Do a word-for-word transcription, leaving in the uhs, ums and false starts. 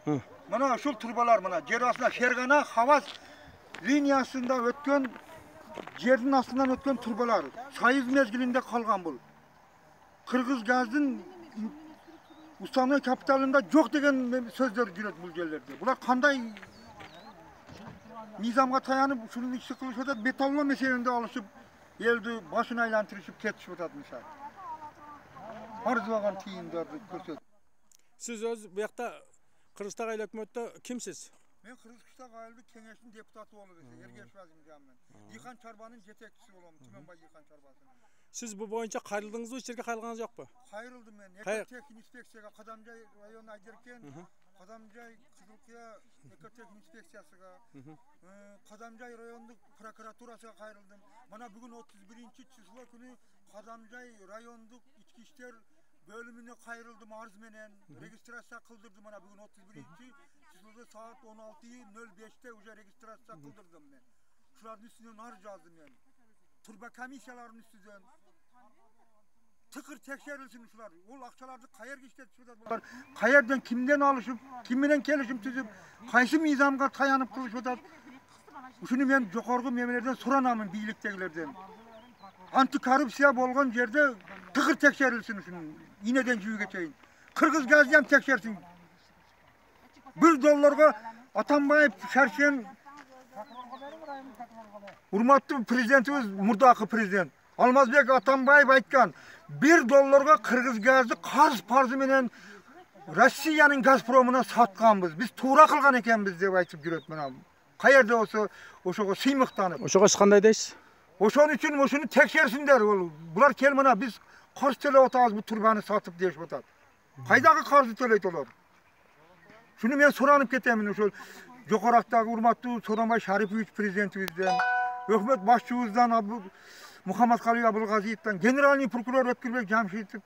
Мына ушул турбалар мына жер астында Фергана Хавас линиясында өткөн жердин астынан өткөн турбалар. Союз мезгилинде калган бул. Кыргыз газдын устаной капиталында жок деген сөздөр жүрөт бул жерлерде. Булар кандай низамга таянып ушуну ишти кылышып атат, металлом эсебинде алышып, элди башын айлантырышып кетишип атат мисалы. Арзыбаган тыйындарды көрсөтүп. Сиз өз буякта Кыргызстан айыл өкмөттө кимсиз? Мен Кыргызстан айылдык кеңештин депутаты болуп эсем, Эргеш Вазимжанмын. Ийхан чарбанын жетекчиси болом, Түмөнбай Ийхан чарбасынын. Сиз бу боюнча кайрылдыңызбы, ич жерге кайрылганыңыз жокпу? Кайрылдым мен. Экотехник инспекцияга Кадамжай району Айдеркен, Кадамжай Кызылкыя экотехник инспекциясыга, Кадамжай райондук прокуратурасына кайрылдым. Мына бүгүн отуз биринчи число күнү Кадамжай райондук ички иштер бөлүмүнө кайрылдым арыз менен, регистрация кылдырдым. Мына бүгүн отуз биринчи числода саат он алты нөл беште уже регистрация кылдырдым мен. Шулардын үстүнөн арыз жаздым мен. Турба комиссиялардын үстүнөн тыкыр текшерилсин ушулар. Ол акчаларды каерге иштетип атат булар? Каерден кимден алышып, ким менен келишим түзүп, кайсы мыйзамга таянып кылышып атат? Ушуну мен жогорку мемлекеттерден суранамын, бийликтегилерден. Антикоррупция болгон жерде тыкыр текшерилсин ушуну. Инеден жүүгө чейин. Кыргыз газды ham текшерсин. Bir долларга Атамбаев шаршен урматтуу президентибиз, мурдакы президент Алмазбек Атамбаев айткан, bir долларга Кыргыз газды карыз парзы менен Россиянын Газпромуна сатканбыз. Биз туура кылган экенбиз деп айтып жүрөт мына. Каерде болсо ошого сыймыктанып. Ошого кандай дейсиз? Ошон үчүн ошону текшерсиндер. Булар кел мына биз карыз төлөп атабыз бу турбаны сатып дешип атат. Кайдагы карызды төлөйт олар? Шуну мен суранып кетемин ошол жогорактагы урматтуу Сооронбай Шарипович президентибизден, өкмөт башчыбыздан Мухаммадкалый Абылгазиевден, генеральный прокурор Өткүрбек Жамшитов